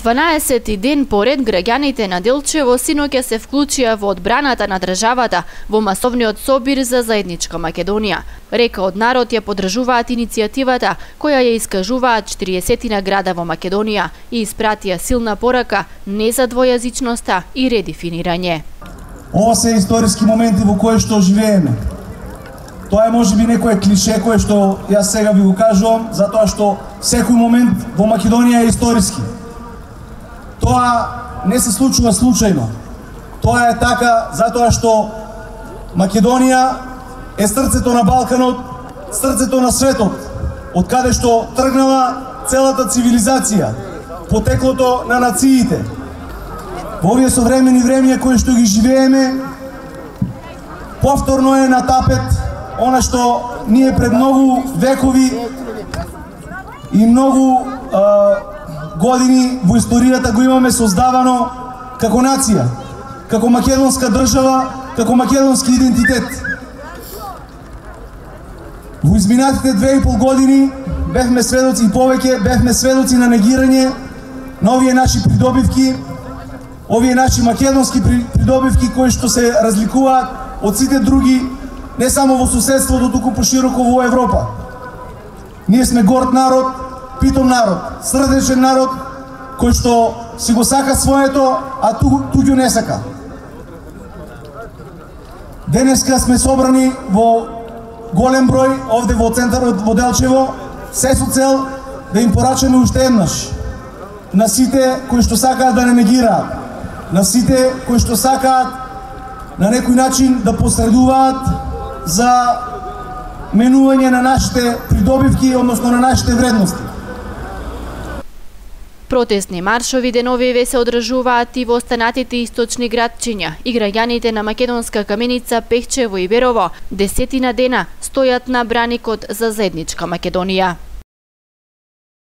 12 ден поред граѓаните на Делчево синоќа се вклучија во одбраната на државата во масовниот собир за заедничка Македонија. Река од народ ја поддржуваат иницијативата која ја искажуваат 40 града во Македонија и испратија силна порака не за двојазичноста и редефинирање. Ова се историски моменти во кои што живееме. Тоа е можеби некое клише кое што јас сега ви го кажувам, затоа што секој момент во Македонија е историски. Тоа не се случува случајно. Тоа е така затоа што Македонија е срцето на Балканот, срцето на светот, од каде што тргнала целата цивилизација, потеклото на нациите. Во овие современи времиња кои што ги живееме, повторно е на тапет она што ние пред многу векови и многу години во историјата го имаме создавано како нација, како македонска држава, како македонски идентитет. Во изминатите 2,5 години бевме сведоци и повеќе, бевме сведоци на негирање на овие наши придобивки, овие наши македонски придобивки кои што се разликуваат од сите други, не само во соседството, туку пошироко во Европа. Ние сме горд народ, питом народ, срдечен народ, кој што си го сака своето, а туѓу не сака. Денеска сме собрани во голем број овде во центарот во Делчево, се со цел да им порачаме уште еднаш на сите кои што сакаат да не негираат, на сите кои што сакаат на некој начин да посредуваат за менување на нашите придобивки, односно на нашите вредности. Протестни маршови деновиве се одржуваат и во останатите источни градчиња и граѓаните на Македонска Каменица, Пехчево и Берово 10 дена стојат на браникот за заедничка Македонија.